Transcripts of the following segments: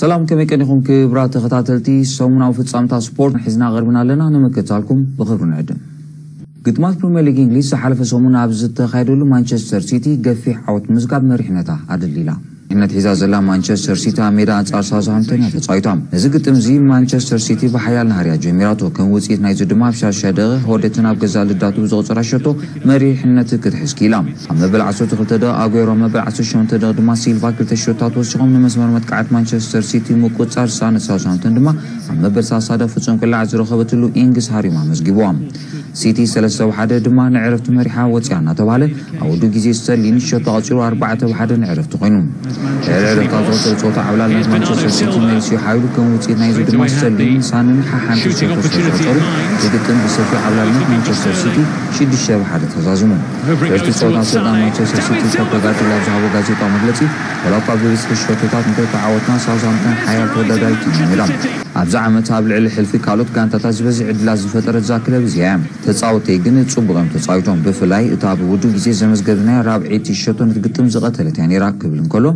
ሰላም፣ ከመይ ቀኒኹም ክብራት ተኸታተልቲ? ሰሙናዊ ፍጻምታ ስፖርት ሒዝና ቀርብና ኣለና፣ ንምክታልኩም ብኽብሪ ንዕድም። ግጥማት ፕሪምየር ሊግ እንግሊዝ ዝሓለፈ ሰሙን ኣብ ዝተኻየደሉ፣ ማንቸስተር ሲቲ ገፊሕ ዓወት ምዝጋብ መሪሕነታ ኣደሊላ። መሪሕነት ሒዛ ዘላ ማንቸስተር ሲቲ ኣብ ሜዳ ኣንጻር ሳውዝሃምፕተን እያ ተጻዊታ። ነዚ ግጥም እዚ ማንቸስተር ሲቲ ብሓያል ናህርያ ጀሚራቶ። ከም ውጽኢት ናይዚ ድማ ኣብ ሻሻ ደቐ ሆደትን ኣብ ገዛ ልዳቱ ብዝቕጽራ ሸቶ መሪሕነት ክትሕዝ ክኢላ። ኣብ መበል ዓሰርተ ክልተ ደቐ ኣጉዌሮ፣ ኣብ መበል ዓሰርተ ሸሞንተ ደቐ ድማ ሲልቫ ክልተ ሸቶታት ወሲኾም ንመስመር መጥቃዕት ማንቸስተር ሲቲ ምቁጽጻር ዝሰኣነት ሳውዝሃምፕተን ድማ ኣብ መበል ሰላሳ ደቐ ፍጹም ቅላዕ ዝረኸበትሉ ኢንግስ ሃሪማ መዝጊብዋ። ሲቲ ሰለስተ ብሓደ ድማ ንዕረፍቲ መሪሓ ወጽያ እናተባህለ ኣብ ውዱእ ግዜ ስተርሊን ሸቶ ኣቕጺሩ ኣርባዕተ ብሓደ ንዕረፍቲ ኮይኑ። ድሕሪ ዕረፍቲ ኣብ ዝቐጸለ ጸወታ ዓብላልነት ማንቸስተር ሲቲ መሊሱ ሓይሉ ከም ውጽኢት ናይዚ ድማ ስተርሊን ሳንን ሓሓንቲ ሸቶ ስለዝቐጸሩ እቲ ግጥም ብሰፊሕ ዓብላልነት ማንቸስተር ሲቲ ሽዱሽተ ብሓደ ተዛዚሙ። ድሕርቲ ጸወታ ኣሰልጣን ማንቸስተር ሲቲ ፔፕ ጋርዲዮላ ኣብ ዝሃቦ ጋዜጣዊ መግለጺ፣ ዋላ እኳ ብብዝሒ ሸቶታት እንተተዓወትና ሳውዝሃምፕተን ሓያል ተወዳዳሪት ኢና ነይራ። ኣብዚ ዓመት ኣብ ልዕሊ ሕልፊ ካልኦት ጋንታታት ዝበዝሕ ዕድላት ዝፈጠረት እዛ ክለብ እዚኣ እያ። ተጻወተይ ግን ጽቡቕ እዮም ተጻዊቶም። ብፍላይ እታ ኣብ ውዱእ ግዜ ዘመዝገብናያ ራብዐይቲ ሸቶ ነቲ ግጥም ዝቐተለት እያ ነይራ ክብል እንከሎ፣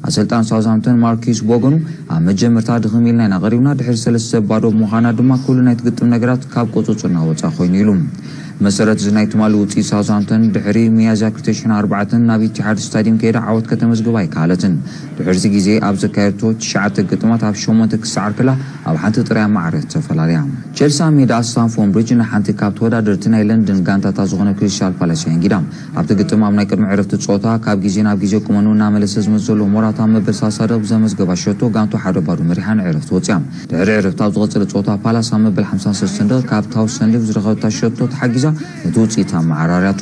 ኣሰልጣን ሳውዝሃምፕተን ማርኪስ ቦገኑ ኣብ መጀመርታ ድኽም ኢልና ኢና ቀሪብና፣ ድሕሪ ሰለስተ ባዶ ብምዃና ድማ ኩሉ ናይቲ ግጥም ነገራት ካብ ቁጽጽርና ወጻኢ ኮይኑ ኢሉ። መሰረት እዚ ናይ ትማሊ ውጽኢት ሳውዝሃምፕተን ድሕሪ ሚያዝያ ክልተ ሽሕን ኣርባዕተን ናብ ኢቲሓድ ስታዲየም ከይዳ ዓወት ከተመዝግብ ኣይከኣለትን። ድሕርቲ ግዜ ኣብ ዘካየድቶ ትሽዓተ ግጥማት ኣብ ሸሞንተ ክሰዓር ከላ ኣብ ሓንቲ ጥራይ ማዕረ ተፈላለያ። ቸልሲ ኣብ ሜዳ ስታንፎርድ ብሪጅ ንሓንቲ ካብ ተወዳደርቲ ናይ ለንደን ጋንታታት ዝኾነ ክሪስታል ፓላስ ኣንጊዳ። ኣብቲ ግጥም ኣብ ናይ ቅድሚ ዕረፍቲ ጸወታ ካብ ግዜ ናብ ግዜ ቁመኑ እናመለሰ ዝመጽእ ዘሎ ሞራታ ኣብ መበል ሰላሳ ደቐ ብዘመዝገባ ሸቶ ጋንቱ ሓደ ባዶ መሪሓ ንዕረፍቲ ወጽያ። ድሕሪ ዕረፍቲ ኣብ ዝቐጸለ ጸወታ ፓላስ ኣብ መበል ሓምሳን ሰለስተን ደቐ ካብ ታውሰንድ ዝረኸበታ ሸቶ ተሓጊዛ ነቲ ውጽኢት ኣመዓራርያቶ።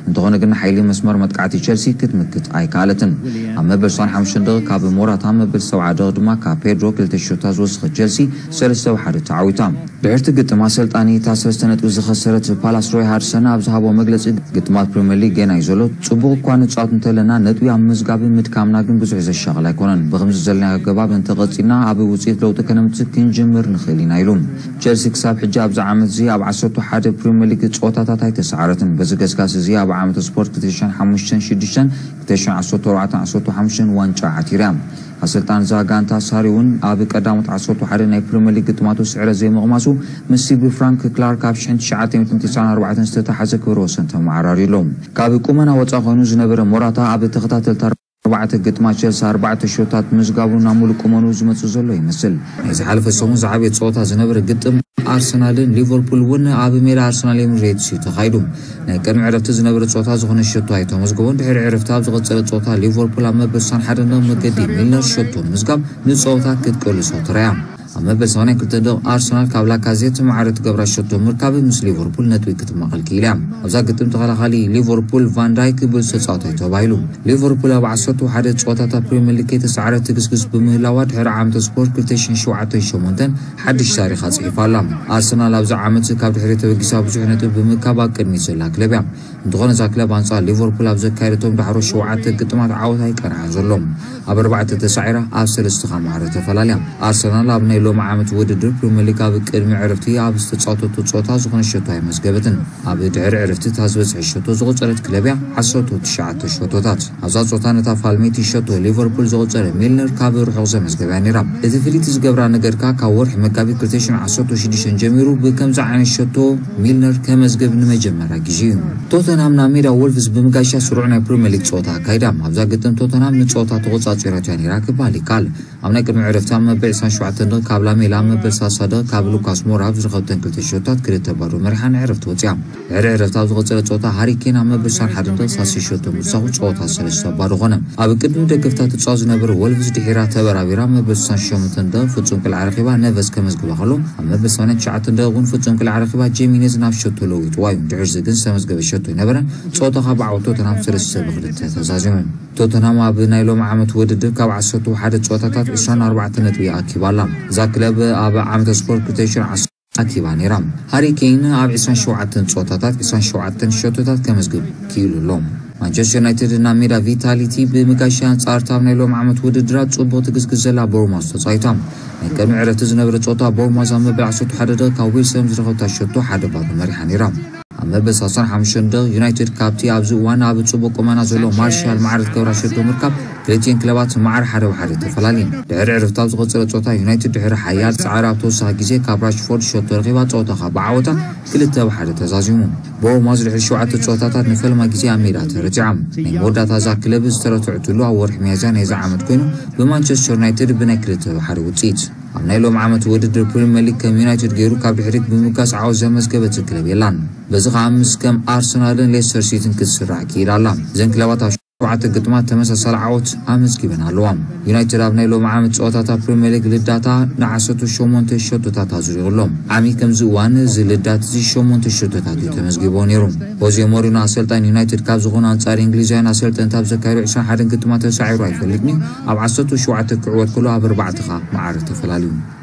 እንተኾነ ግን ሓይሊ መስመር መጥቃዕቲ ቸልሲ ክትምክት ኣይከኣለትን። ኣብ መበል ሰብዓን ሓሙሽተን ደቐ ካብ ሞራታ፣ ኣብ መበል ሰብዓ ደቐ ድማ ካብ ፔድሮ ክልተ ሸቶታት ዝወሰኸት ቸልሲ ሰለስተ ብሓደ ተዓዊታ። ድሕርቲ ግጥም ኣሰልጣኒ እታ ሰለስተ ነጥቢ ዝኸሰረት ፓላስ ሮይ ሃድሰን ኣብ ዝሃቦ መግለጺ፣ ግጥማት ፕሪምየር ሊግ ገና እዩ ዘሎ። ጽቡቕ እኳ ንጻወት እንተለና ነጥቢ ኣብ ምዝጋብ ምድካምና ግን ብዙሕ ዘሻቕል ኣይኮነን። ብኸምዚ ዘለና ኣገባብ እንተቐጺልና ኣብ ውጽኢት ለውጢ ከነምጽእ ክንጅምር ንኽእል ኢና ኢሉ። ቸልሲ ክሳብ ሕጂ ኣብዚ ዓመት እዚ ኣብ ዓሰርተ ሓደ ፕሪምየር ሊግ ጸወታታት ኣይተሰዓረትን። በዚ ገስጋስ እዚ ኣብ ዓመተ ስፖርት ክልተ ሽሕን ሓሙሽተን ሽዱሽተን፣ ክልተ ሽሕን ዓሰርተ ኣርባዕተን ዓሰርተ ሓሙሽተን ዋንጫ ዓቲራ። ኣሰልጣን እዛ ጋንታ ሳሪ እውን ኣብ ቀዳሞት ዓሰርተ ሓደ ናይ ፕሪምየር ሊግ ግጥማቱ ስዕረት ዘይምቕማሱ ምስ ሲቢ ፍራንክ ክላርክ ኣብ ሽሕን ትሽዓተ ሚእትን ትስዓን ኣርባዕተን ዝተታሓዘ ክብረ ወሰን ተመዓራርዩ ኣሎ። ካብ ቁመና ወጻኢ ኮይኑ ዝነበረ ሞራታ ኣብ ተኸታተልቲ ኣርባዕተ ግጥማት ቸልሲ ኣርባዕተ ሸቶታት ምዝጋቡ ናብ ሙሉእ ቁመኑ ዝመጽእ ዘሎ ይመስል። ናይ ዝሓለፈ ሰሙን ዝዓበየ ጸወታ ዝነበረ ግጥም ኣርሰናልን ሊቨርፑል እውን ኣብ ሜዳ ኣርሰናል ኤምሬትስ እዩ ተኻይዱ። ናይ ቅድሚ ዕረፍቲ ዝነበረ ጸወታ ዝኾነ ሸቶ ኣይተመዝገቦን። ድሕሪ ዕረፍቲ ኣብ ዝቐጸለ ጸወታ ሊቨርፑል ኣብ መበል ስሳን ሓደን መገዲ ሚልነር ሸቶ ምዝጋብ ንጸወታ ክትቅልሶ ተራእያ። ኣብ መበል ሰማንያን ክልተን ደቕ ኣርሰናል ካብ ላካዜት ማዕረ ትገብራ ሸቶ ምርካብ ምስ ሊቨርፑል ነጥቢ ክትማቐል ክኢላ እያ። ኣብዛ ግጥም ተኸላኻሊ ሊቨርፑል ቫን ዳይክ ብሉጽ ተጻዋታይ ተባሂሉ። ሊቨርፑል ኣብ ዓሰርተ ሓደ ጸወታታት ፕሪምየር ሊግ ከይተሳዕረት ትግስግስ ብምህላዋ ድሕሪ ዓመተ ስፖርት ክልተ ሽሕን ሸውዓተን ሸሞንተን ሓድሽ ታሪኻ ጽሒፋ ኣላ። ኣርሰናል ኣብዚ ዓመት ካብ ድሕሪት ተበጊሳ ብዙሕ ነጥቢ ብምርካብ ኣብ ቅድሚት ዘላ ክለብ እያ። እንተኾነ እዛ ክለብ ኣንጻር ሊቨርፑል ኣብ ዘካየደቶም ዳሕሮ ሸውዓተ ግጥማት ዓወት ኣይቀንዓን ዘሎ። ኣብ ኣርባዕተ ተሳዒራ ኣብ ሰለስተ ካብ ማዕረ ተፈላልያ። ኣርሰናል ኣብ ናይ ሎሚ ዓመት ውድድር ፕሪምየር ሊግ ኣብ ቅድሚ ዕረፍቲ ኣብ ዝተጻወተቶ ጸወታ ዝኾነ ሸቶ ኣይመዝገበትን። ኣብ ድሕሪ ዕረፍቲ እታ ዝበዝሐ ሸቶ ዝቖጸረት ክለብ እያ፣ ዓሰርተ ትሽዓተ ሸቶታት። ኣብዛ ጸወታ ነታ ፋልሜቲ ሸቶ ሊቨርፑል ዘቑጸረ ሚልነር ካብ ርሑቕ ዘመዝገበያ ነይራ። እቲ ፍልይቲ ዝገብራ ነገር ከኣ ካብ ወርሒ መጋቢት ክልተ ሽሕን ዓሰርተ ሽዱሽተን ጀሚሩ ብከምዚ ዓይነት ሸቶ ሚልነር ከመዝግብ ንመጀመርያ ግዜ እዩ። ቶተንሃም ናብ ሜዳ ወልቭስ ብምጋሻ ስሩዕ ናይ ፕሪምየር ሊግ ጸወታ ኣካይዳ። ኣብዛ ግጥም ቶተንሃም ንጸወታ ተቖጻጺራቶ እያ ነይራ ክበሃል ይከኣል። ኣብ ናይ ቅድሚ ዕረፍቲ ኣብ መበል ዕስራን ሸውዓተን ደቕ ካብ ላሜላ፣ ኣብ መበል ሰላሳ ደቕ ካብ ሉካስ ሞራ ኣብ ዝረኸብተን ክልተ ሸቶታት ክልተ ባዶ መሪሓ ንዕረፍቲ ወጽያ። ድሕሪ ዕረፍቲ ኣብ ዝቐጸለ ጸወታ ሃሪ ኬን ኣብ መበል ስሳን ሓደን ደቕ ሳልሳይ ሸቶ ምውሳኹ ጸወታ ሰለስተ ባዶ ኾነ። ኣብ ቅድሚ ደገፍታ ትጻወት ዝነበረ ወልቭስ ድሒራ ተበራቢራ ኣብ መበል ስሳን ሸሞንተን ደቕ ፍጹም ቅልዓ ረኺባ ነቨስ ከመዝግባ ከሎ፣ ኣብ መበል ሰማንያን ትሽዓተን ደቕ እውን ፍጹም ቅልዓ ረኺባ ጄሚኔዝ ናብ ሸቶ ለዊጥዋ እዩ። ድሕሪ እዚ ግን ዝተመዝገበ ሸቶ ኣይነበረን። ጸወታ ካብ ዓወት ቶተንሃም ሰለስተ ብክልተ ተዛዚሙ። ቶተንሃም ኣብ ናይ ሎሚ ዓመት ውድድር ካብ ዓሰርተ ሓደ ጸወታታት ዕስራን ኣርባዕተ ነጥቢ ኣኪባ ኣላ። እዛ ክለብ ኣብ ዓመተ ስፖርት ክልተ ሽሕን ዓሰርተ ኣኪባ ነይራ። ሃሪ ኬን ኣብ ዕስራን ሸውዓተን ጸወታታት ዕስራን ሸውዓተን ሸቶታት ከመዝግብ ክኢሉ ኣሎ። ማንቸስተር ዩናይትድ ናብ ሜዳ ቪታሊቲ ብምጋሻ ኣንጻር እታ ኣብ ናይ ሎሚ ዓመት ውድድራት ጽቡቕ ትግስግስ ዘላ ቦርማውዝ ተጻዊታ። ናይ ቅድሚ ዕረፍቲ ዝነበረ ጸወታ ቦርማውዝ ኣብ መበል ዓሰርተ ሓደ ደቂቕ ካብ ዊልሰን ዝረኸብታ ሸቶ ሓደ ባዶ መሪሓ ነይራ። መበል ሰላሳን ሓሙሽተን ደቂቕ ዩናይትድ ካብቲ ኣብዚ እዋን ኣብ ጽቡቕ ቁመና ዘሎ ማርሻል ማዕረ ትገብራ ሸቶ ምርካብ፣ ክልቲኤን ክለባት ማዕረ ሓደ ብሓደ ተፈላልየን። ድሕሪ ዕረፍቲ ኣብ ዝቐጸለ ጸወታ ዩናይትድ ድሕሪ ሓያል ጻዕሪ ኣብ ተወሳኺ ግዜ ካብ ራሽፎርድ ሸቶ ረኺባ ጸወታ ካብ ብዓወታ ክልተ ብሓደ ተዛዚሙ። ብኦማዝ ድሕሪ ሸውዓተ ጸወታታት ንፈልማ ግዜ ኣብ ሜዳ ተረቲዖም። ናይ መወዳእታ እዛ ክለብ ዝተረትዐትሉ ኣብ ወርሒ ሚያዝያ ናይዚ ዓመት ኮይኑ፣ ብማንቸስተር ዩናይትድ ብናይ ክልተ ብሓደ ውጽኢት። ኣብ ናይ ሎም ዓመት ውድድር ፕሪምየር ሊግ ከም ዩናይትድ ገይሩ ካብ ድሕሪት ብምብጋስ ዓወት ዘመዝገበት ክለብ የላን። በዚ ከኣ ምስ ከም ኣርሰናልን ሌስተር ሲቲን ክትስራዕ ክኢላ ኣላ። እዘን ክለባት ኣብ ሸውዓተ ግጥማት ተመሳሳሊ ዓወት ኣመዝጊበን ኣለዋ። ዩናይትድ ኣብ ናይ ሎም ዓመት ጸወታታት ፕሪምየር ሊግ ልዳታ ንዓሰርተ ሸሞንተ ሸቶታት ኣዝሪቑ ኣሎ። ዓሚ ከምዚ እዋን እዚ ልዳት እዚ ሸሞንተ ሸቶታት እዩ ተመዝጊቦ ነይሩ። ሆዜ ሞሪኖ ኣሰልጣኒ ዩናይትድ ካብ ዝኾኑ ኣንጻር እንግሊዛውያን ኣሰልጠንቲ ኣብ ዘካየዱ ዕስራን ሓደን ግጥማት ተሳዒሩ ኣይፈልጥን እዩ። ኣብ ዓሰርተ ሸውዓተ ክዕወት ከሎ ኣብ ኣርባዕተ ኸኣ ማዕረ ተፈላልዩ።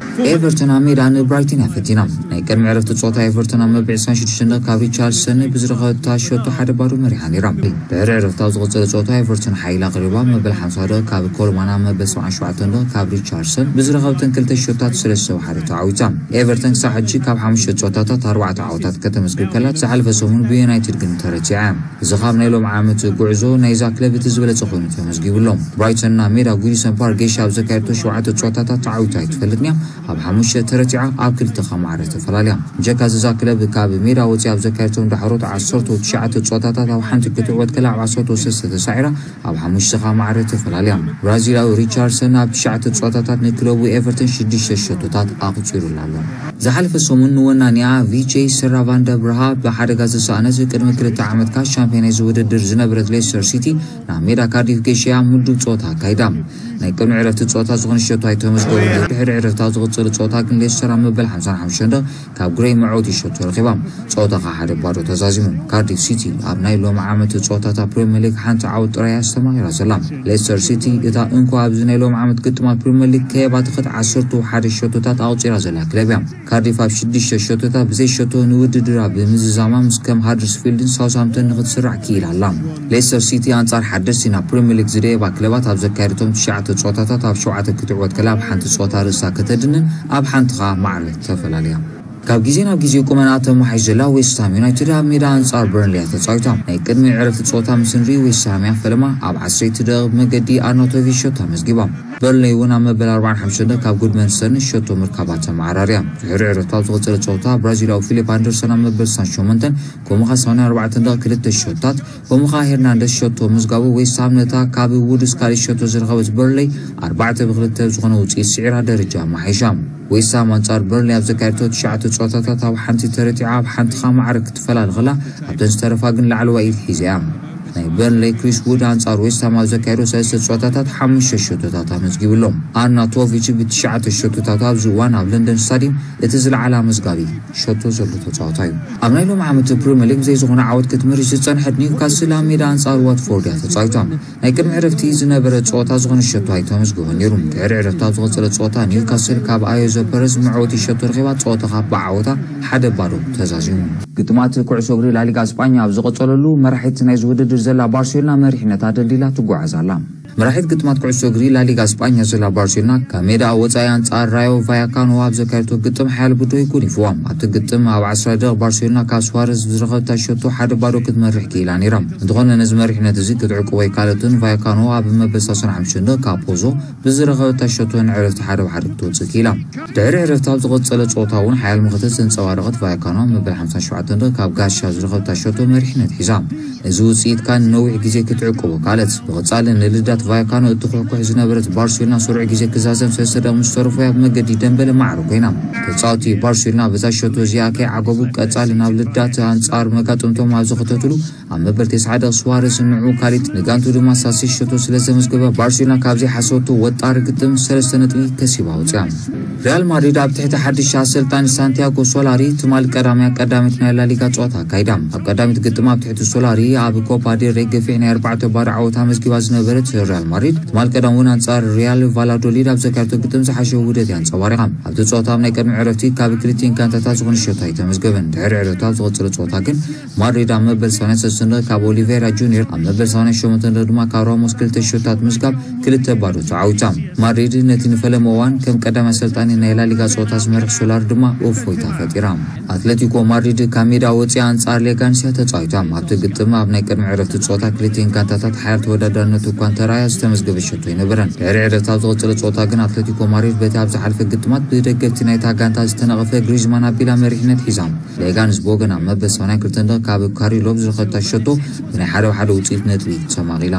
ኤቨርተን ኣብ ሜዳ ንብራይተን እያ ፈቲና። ናይ ቅድሚ ዕረፍቲ ጸወታ ኤቨርተን ኣብ መበል ዕስራን ሽዱሽተን ደቂቕ ካብ ሪቻርድሰን ብዝረኸበታ ሸቶ ሓደ ባዶ መሪሓ ነይራ። ድሕሪ ዕረፍቲ ኣብ ዝቐጸለ ጸወታ ኤቨርተን ሓይላ ኣቕሪባ። መበል ሓምሳ ደቂቕ ካብ ኮልማን፣ ኣብ መበል ሰብዓን ሸውዓተን ደቂቕ ካብ ሪቻርድሰን ብዝረኸበተን ክልተ ሸቶታት ሰለስተ ብሓደ ተዓዊታ። ኤቨርተን ክሳብ ሕጂ ካብ ሓሙሽተ ጸወታታት ኣርባዕተ ዓወታት ከተመዝግብ ከላ፣ ዝሓለፈ ሰሙን ብዩናይትድ ግን ተረቲዓ። እዚ ካብ ናይ ሎም ዓመት ጉዕዞ ናይዛ ክለብ እቲ ዝበለጸ ኮይኑ ተመዝጊቡ ኣሎ። ብራይተን ናብ ሜዳ ጉዲሰን ፓርክ ገይሻ ኣብ ዘካየደቶ ሸውዓተ ጸወታታት ተዓዊታ ኣይትፈልጥን እያ። ኣብ ሓሙሽተ ተረቲዓ፣ ኣብ ክልተ ኸኣ ማዕረ ተፈላልያ። ብጀካ እዚ እዛ ክለብ ካብ ሜዳ ወጺኣ ኣብ ዘካየደቶም ዳሕሮት ዓሰርተ ትሽዓተ ጸወታታት ኣብ ሓንቲ ክትዕወት ከላ ኣብ ዓሰርተ ሰለስተ ተሳዒራ፣ ኣብ ሓሙሽተ ኸኣ ማዕረ ተፈላልያ። ብራዚላዊ ሪቻርድሰን ኣብ ትሽዓተ ጸወታታት ንክለቡ ኤቨርተን ሽዱሽተ ሸቶታት ኣቑጺሩላ ኣሎ። ዝሓለፈ ሰሙን ንወናኒኣ ቪቼ ሰራቫንደ ብርሃ ብሓደጋ ዝተሳእነት ቅድሚ ክልተ ዓመት ከኣ ሻምፒዮን ናይዚ ውድድር ዝነበረት ሌስተር ሲቲ ናብ ሜዳ ካርዲፍ ገይሻ ምዱብ ጸወታ ኣካይዳ። ናይ ቅድሚ ዕረፍቲ ጸወታ ዝኾነ ሸቶ ኣይተመዝገበን። ድሕሪ ዕረፍቲ ኣብ ዝቕጽል ጸወታ ግን ሌስተር ኣብ መበል ሓምሳን ሓሙሽተን ደቂቕ ካብ ግሬይ መዕወቲ ሸቶ ረኺባ። ጸወታ ኸኣ ሓደ ባዶ ተዛዚሙ። ካርዲፍ ሲቲ ኣብ ናይ ሎም ዓመት ጸወታታት ፕሪምየር ሊግ ሓንቲ ዓወት ጥራይ ኣስተማቒራ ዘላ። ሌስተር ሲቲ እታ እንኮ ኣብዚ ናይ ሎም ዓመት ግጥማት ፕሪምየር ሊግ ከየባተኸት ዓሰርተ ሓደ ሸቶታት ኣቑጺራ ዘላ ክለብ እያ። ካርዲፍ ኣብ ሽዱሽተ ሸቶታት ብዘይ ሸቶ ንውድድራ ብምዝዛማ ምስ ከም ሃደርስፊልድን ሳውስሃምፕተን ንኽትስራዕ ክኢላ ኣላ። ሌስተር ሲቲ ኣንጻር ሓደስቲ ናብ ፕሪምየር ሊግ ዝደየባ ክለባት ኣብ ዘካየደቶም ትሽዓተ ጸወታታት ኣብ ሸውዓተ ክትዕወት ከላ ኣብ ሓንቲ ጸወታ ርእሳ ከተድንን ኣብ ሓንቲ ኸኣ ማዕረ ተፈላልያ። ካብ ግዜ ናብ ግዜ ቁመናኣ ተመሓይሽ ዘላ ዌስትሃም ዩናይትድ ኣብ ሜዳ ኣንጻር በርንሊ እያ ተጻዊታ። ናይ ቅድሚ ዕረፍቲ ጸወታ ምስ ንርኢ ዌስትሃም እያ ፈለማ ኣብ ዓሰርተ ደቂቕ መገዲ ኣርናውቶቪች ሸቶ ኣመዝጊባ። በርንሊ እውን ኣብ መበል ኣርባዓን ሓሙሽተን ካብ ጉድመንሰን ሸቶ ምርካባ ተመዓራርያ። ድሕሪ ዕረፍቲ ኣብ ዝቐጸለ ጸወታ ብራዚላዊ ፊሊፕ ኣንደርሰን ኣብ መበል ስሳን ሸሞንተን ከምኡ ኸኣ ሰማንያን ኣርባዕተን ደቂቕ ክልተ ሸቶታት ከምኡ ኸኣ ሄርናንደስ ሸቶ ምዝጋቡ ዌስትሃም ነታ ካብ ውድስ ካልእ ሸቶ ዝረኸበት በርንሊ ኣርባዕተ ብክልተ ብዝኾነ ውጽኢት ስዒራ ደረጃ ኣመሓይሻ። ዌስትሃም ኣንጻር በርንሊ ኣብ ዘካየደቶ ትሽዓተ ጸወታታት ኣብ ሓንቲ ተረቲዓ ኣብ ሓንቲ ኸኣ ማዕረ ክትፈላሊ ኸላ ኣብተን ዝተረፋ ግን ላዕለዋይ ኢድ ሒዛ እያ። ናይ በርንሊ ክሪስ ውድ ኣንጻር ዌስትሃም ኣብ ዘካየዶ ሰለስተ ጸወታታት ሓሙሽተ ሸቶታት ኣመዝጊቡ ኣሎ። ኣርናውቶቪች ብትሽዓተ ሸቶታት ኣብዚ እዋን ኣብ ለንደን ስታዲየም እቲ ዝለዓለ ኣመዝጋቢ ሸቶ ዘሎ ተጻዋታይ እዩ። ኣብ ናይ ሎም ዓመት ፕሪምየር ሊግ ብዘይ ዝኾነ ዓወት ክትምርሽ ዝጸንሐት ኒውካስል ኣብ ሜዳ ኣንጻር ዋትፎርድ እያ ተጻዊታ። ናይ ቅድሚ ዕረፍቲ ዝነበረ ጸወታ ዝኾነ ሸቶ ኣይተመዝገበን ነይሩ። ድሕሪ ዕረፍቲ ኣብ ዝቐጸለ ጸወታ ኒውካስል ካብ ኣዮዘ ፐረዝ መዕወቲ ሸቶ ረኺባ ጸወታ ካብ ብዓወታ ሓደ ባዶ ተዛዚሙ። ግጥማት ኩዕሶ እግሪ ላሊጋ ስጳኛ ኣብ ዝቐጸለሉ መራሒት ናይዚ ውድድር ዘላ ባርሴሎና መሪሕነታ ደልዲላ ትጓዓዝ ኣላ። መራሒት ግጥማት ኩዕሶ እግሪ ላሊጋ ስጳኛ ዘላ ባርሴሎና ካብ ሜዳ ወጻኢ ኣንጻር ራዮ ቫያካኖ ኣብ ዘካየደቶ ግጥም ሓያል ብድሆ ጎኒፍዋ። ኣብቲ ግጥም ኣብ ዓስራ ደቂቕ ባርሴሎና ካብ ስዋረዝ ብዝረኸበታ ሸቶ ሓደ ባዶ ክትመርሕ ክኢላ ነይራ። እንተኾነ ነዚ መሪሕነት እዚ ክትዕቅቦ ኣይከኣለትን። ቫያካኖ ኣብ መበል ሰላሳን ሓሙሽተን ካብ ፖዞ ብዝረኸበታ ሸቶ ንዕረፍቲ ሓደ ብሓደ ክትወጽእ ክኢላ። ድሕሪ ዕረፍቲ ኣብ ዝቐጸለ ጸወታ እውን ሓያል መኸተ ዘንጸባረቐት ቫያካኖ ኣብ መበል ሓምሳን ሸውዓተን ካብ ጋሻ ዝረኸበታ ሸቶ መሪሕነት ሒዛ። እዚ ውጽኢት ከኣ ንነዊሕ ግዜ ክትዕቅቦ ከኣለት። ብቐጻሊ ንልዳት ቫያካኖ እትኹሕኩሕ ዝነበረት ባርሴሎና ስሩዕ ግዜ ክዛዘም ሰለስተ ደቂቕ ምስ ተረፎ ኣብ መገዲ ደምበለ ማዕረ ኮይና። ተጻወቲ ባርሴሎና በዛ ሸቶ እዚኣ ከይዓገቡ ቀጻሊ ናብ ልዳት ኣንጻር መጋጥምቶም ኣብ ዝኸተትሉ ኣብ መበል ተስዓ ደቂቕ ስዋረስ ንዑ ካሊት ንጋንቱ ድማ ሳሲ ሸቶ ስለ ዘመዝገበ ባርሴሎና ካብ ዘይሓሰበቶ ወጣሪ ግጥም ሰለስተ ነጥቢ ከሲባ ወጽያ። ሪያል ማድሪድ ኣብ ትሕቲ ሓድሽ ኣሰልጣኒ ሳንቲያጎ ሶላሪ ትማሊ ቀዳምያ ቀዳሚት ናይ ላሊጋ ጸወታ ኣካይዳ። ኣብ ቀዳሚት ግጥም ኣብ ትሕቲ ሶላሪ ኣብ ኮፓ ዴል ሬይ ገፊሕ ናይ ኣርባዕተ ባዶ ዓወት ኣመዝጊባ ዝነበረት ሪያል ማድሪድ ትማል ቀዳም እውን ኣንጻር ሪያል ቫላዶሊድ ኣብ ዘካየደቶ ግጥም ዝሓሸ ውህደት እያ ኣንጸባሪቓ። ኣብቲ ጸወታ ኣብ ናይ ቅድሚ ዕረፍቲ ካብ ክልቲኤን ጋንታታት ዝኾነ ሸቶ ኣይተመዝገበን። ድሕሪ ዕረፍቲ ኣብ ዝቐጸለ ጸወታ ግን ማድሪድ ኣብ መበል ሰማንያን ሰለስተን ካብ ኦሊቬራ ጁኒየር፣ ኣብ መበል ሰማንያን ሸሞንተን ድማ ካብ ራሞስ ክልተ ሸቶታት ምዝጋብ ክልተ ባዶ ተዓዊታ። ማድሪድ ነቲ ንፈለመ እዋን ከም ቀዳማይ ኣሰልጣኒ ናይ ላሊጋ ጸወታ ዝመርሕ ሶላር ድማ እፎይታ ፈጢራ። ኣትሌቲኮ ማድሪድ ካብ ሜዳ ወፂኣ ኣንጻር ሌጋንስ እያ ተጻዊታ። ኣብቲ ግጥም ኣብ ናይ ቅድሚ ዕረፍቲ ጸወታ ክልቲኤን ጋንታታት ሓያል ተወዳዳርነት እኳ እንተረኣያ ዝተመዝገበ ሸቶ ኣይነበረን። ድሕሪ ዕረፍቲ ኣብ ዝቐጸለ ጸወታ ግን ኣትሌቲኮ ማድሪድ በቲ ኣብ ዝሓለፈ ግጥማት ብደገፍቲ ናይታ ጋንታ ዝተነቐፈ ግሪዝማን ኣቢላ መሪሕነት ሒዛ። ሌጋንስ ብወገና ኣብ መበል ሰማንያን ክልተን ካብ ካሪሎ ብዝረኸበታ ሸቶ ብናይ ሓደ ብሓደ ውፅኢት ነጥቢ ተማቒላ።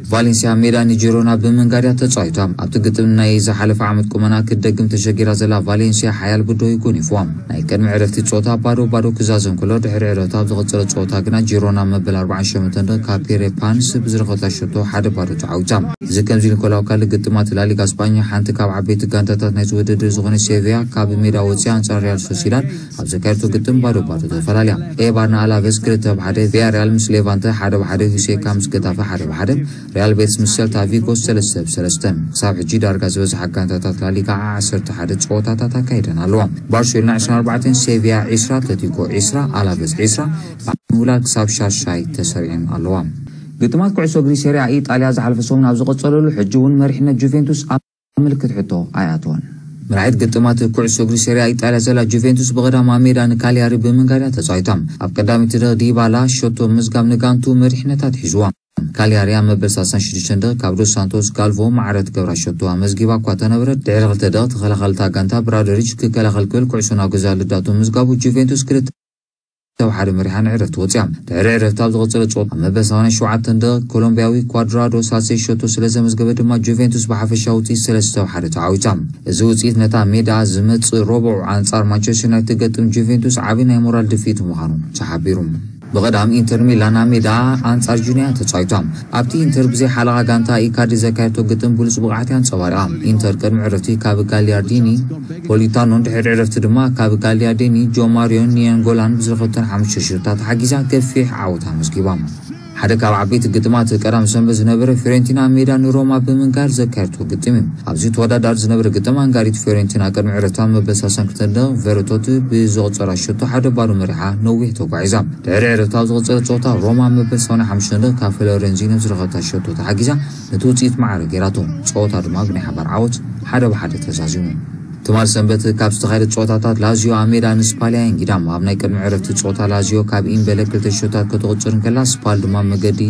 ቫሌንሲያ ሜዳ ንጂሮና ብምንጋር እያ ተጻዊታ። ኣብቲ ግጥም ናይ ዝሓለፈ ዓመት ቁመና ክትደግም ተሸጊራ ዘላ ቫሌንሲያ ሓያል ብድሆ እዩ ጎኒፍዋ። ናይ ቅድሚ ዕረፍቲ ጸወታ ባዶ ባዶ ክዛዘም ከሎ ድሕሪ ዕረፍቲ ኣብ ዝቐጸለ ጸወታ ግና ጂሮና መበል ኣርባዓን ሸሞንተን ካብ ፔሬ ፓንስ ብዝረኸበታ ሸቶ ሓደ ባዶ ተዓዊታ። እዚ ከምዚ ኢሉ እንከሎ ኣብ ካልእ ግጥማት ላሊጋ ስጳኛ ሓንቲ ካብ ዓበይቲ ጋንታታት ናይዚ ውድድር ዝኾነ ሴቪያ ካብ ሜዳ ወፂኣ ኣንጻር ሪያል ሶሲዳድ ኣብ ዘካየደቶ ግጥም ባዶ ባዶ ተፈላለያ። ኤባር ንኣላቨስ ክልተ ብሓደ፣ ቪያሪያል ምስ ሌቫንተ ሓደ ብሓደ፣ ሁሴካ ምስ ገታፈ ሓደ ብሓደ፣ ሪያል ቤትስ ምስ ሰልታ ቪጎ ሰለስተ ብሰለስተን። ክሳብ ሕጂ ዳርጋ ዝበዝሓ ጋንታታት ላሊጋ ዓሰርተ ሓደ ጸወታታት ኣካይደን ኣለዋ። ባርሴሎና ዕስራን ኣርባዕተን፣ ሴቪያ ዕስራ፣ ኣትለቲኮ ዕስራ፣ ኣላቨስ ዕስራ፣ ምውላድ ክሳብ ሻሻይ ተሰሪዐን ኣለዋ። ግጥማት ኩዕሶ እግሪ ሴሪያ ኢጣልያ ዝሓለፈ ሰሙን ኣብ ዝቐጸለሉ ሕጂ እውን መሪሕነት ጁቬንቱስ ኣብ ምልክት ሕቶ ኣይኣተወን። መራሒት ግጥማት ኩዕሶ እግሪ ሴሪያ ኢጣልያ ዘላ ጁቬንቱስ ብቐዳም ኣብ ሜዳ ንካሊያሪ ብምንጋር እያ ተጻዊታ። ኣብ ቀዳመይቲ ደቕ ዲባላ ሸቶ ምዝጋብ ንጋንቱ መሪሕነታ ኣትሒዝዋ። ካሊያሪ ኣብ መበል ሰላሳን ሽዱሽተን ደቕ ካብ ዶስ ሳንቶስ ጋልቮ ማዕረ ትገብራ ሸቶ ኣመዝጊባ እኳ ተነበረት፣ ድሕሪ ክልተ ደቕ ተኸላኸልታ ጋንታ ብራዶሪች ክከላኸል ክብል ኩዕሶ ናብ ገዛ ልዳቱ ምዝጋቡ ጁቬንቱስ ክልተ ብሓደ መሪሓ ንዕረፍቲ ወፅያ። ድሕሪ ዕረፍቲ ኣብ ዝቐፀለ ጸወታ ኣብ መበል ሰማንያን ሸውዓተን ደቕ ኮሎምቢያዊ ኳድራዶ ሳሴ ሸቶ ስለ ዘመዝገበ ድማ ጁቬንቱስ ብሓፈሻ ውፅኢት ሰለስተ ብሓደ ተዓዊታ። እዚ ውፅኢት ነታ ሜዳ ዝመፅእ ረቡዕ ኣንጻር ማንቸስተር ዩናይትድ ትገጥም ጁቬንቱስ ዓቢ ናይ ሞራል ድፍኢት ምዃኑ ተሓቢሩ። ብቐዳም ኢንተር ሚላን ኣብ ሜዳ ኣንጻር ጁኒያ ተጻዊታ። ኣብቲ ኢንተር ብዘይ ሓለቓ ጋንታ ኢካዲ ዘካየደቶ ግጥም ብሉጽ ብቕዓት እያ ኣንጸባሪቓ። ኢንተር ቅድሚ ዕረፍቲ ካብ ጋሊያርዲኒ ፖሊታኖን ድሕሪ ዕረፍቲ ድማ ካብ ጋሊያርዲኒ ጆማሪዮን ኒያንጎላን ብዝረኸብተን ሓሙሽተ ሽቶታት ተሓጊዛ ገፊሕ ዓወት ኣመዝጊባ። ሓደ ካብ ዓበይቲ ግጥማት ቀዳም ሰንበት ዝነበረ ፊዮሬንቲና ኣብ ሜዳ ንሮማ ብምንጋር ዘካየደቶ ግጥም እዩ። ኣብዚ ተወዳዳሪ ዝነበረ ግጥም ኣንጋሪት ፊዮሬንቲና ቅድሚ ዕረፍታ መበል ሰላሳን ክልተን ደቕ ቨረቶት ብዘቑጸራ ሸቶ ሓደ ባዶ መሪሓ ነዊሕ ተጓዒዛ። ድሕሪ ዕረፍታ ኣብ ዝቐጸለ ጸወታ ሮማ መበል ሰማንያን ሓሙሽተን ደቕ ካብ ፍሎረንዚኖ ዝረኸብታ ሸቶ ተሓጊዛ ነቲ ውጽኢት ማዕረ ገይራቶ። ጸወታ ድማ ብናይ ሓባር ዓወት ሓደ ብሓደ ተዛዚሙ። ትማል ሰንበት ካብ ዝተኻየደ ጸወታታት ላዚዮ ኣብ ሜዳ ንስፓል እያ ኣንጊዳ። ኣብ ናይ ቅድሚ ዕረፍቲ ጸወታ ላዚዮ ካብ ኢምበለ ክልተ ሸቶታት ከተቑጽር እንከላ፣ ስፓል ድማ መገዲ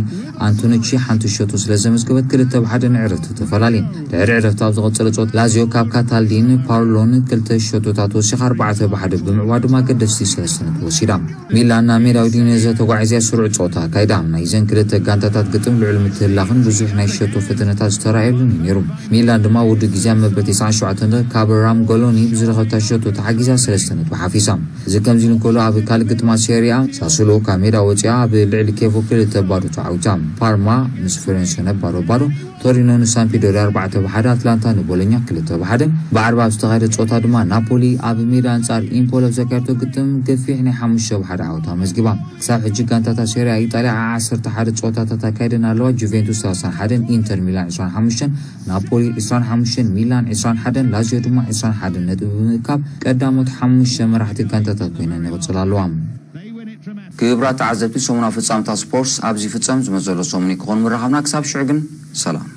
ኣንቶኑቺ ሓንቲ ሸቶ ስለ ዘመዝገበት ክልተ ብሓደ ንዕረፍቲ ተፈላለየን። ድሕሪ ዕረፍቲ ኣብ ዝቐጸለ ጸወታ ላዚዮ ካብ ካታልዲን ፓርሎን ክልተ ሸቶታት ወሲኻ ኣርባዕተ ብሓደ ብምዕዋት ድማ ኣገደስቲ ሰለስተ ነጥቢ ወሲዳ። ሚላን ናብ ሜዳ ዩዲኔዘ ተጓዒዛ ስሩዕ ጸወታ ኣካይዳ። ናይዘን ክልተ ጋንታታት ግጥም ልዑል ምትህልላኽን ብዙሕ ናይ ሸቶ ፈተነታት ዝተራእየሉን እዩ ነይሩ። ሚላን ድማ ውዱእ ግዜ ኣብ መበል ተስዓን ሸውዓተን ካብ ራም ጎሎኒ ብዝረኸብታ ሸቶ ተሓጊዛ ሰለስተ ነጥቢ ሓፊሳ። እዚ ከምዚ ኢሉ እንከሎ፣ ኣብ ካልእ ግጥማት ሴሪያ ሳሱሎ ካብ ሜዳ ወፂኣ ኣብ ልዕሊ ኬቮ ክልተ ባዶ ተዓዊታ። ፓርማ ምስ ፍሬንሰነ ባዶ ባዶ፣ ቶሪኖ ንሳምፒዶሪያ ኣርባዕተ ብሓደ፣ ኣትላንታ ንቦሎኛ ክልተ ብሓደ። ብዓርቢ ኣብ ዝተኻየደ ጸወታ ድማ ናፖሊ ኣብ ሜዳ ኣንጻር ኢምፖሊ ኣብ ዘካየደቶ ግጥም ገፊሕ ናይ ሓሙሽተ ብሓደ ዓወት ኣመዝጊባ። ክሳብ ሕጂ ጋንታታት ሴሪያ ኢጣልያ ዓሰርተ ሓደ ጸወታታት ኣካይደን ኣለዋ። ጁቬንቱስ ሰላሳን ሓደን፣ ኢንተር ሚላን ዕስራን ሓሙሽተን፣ ናፖሊ ዕስራን ሓሙሽተን፣ ሚላን ዕስራን ሓደን፣ ላዚዮ ድማ ዕስራን ሓደን ነጥቢ ብምእካብ ቀዳሞት ሓሙሽተ መራሕቲ ጋንታታት ኮይነን ይቕጽላ ኣለዋ። ክቡራት ተዓዘብቲ፣ ሰሙናዊ ፍጻመታት ስፖርት ኣብዚ ፍጸም። ዝመዘሎ ሰሙን ክኾን ምራኸብና። ክሳብ ሽዑ ግን ሰላም።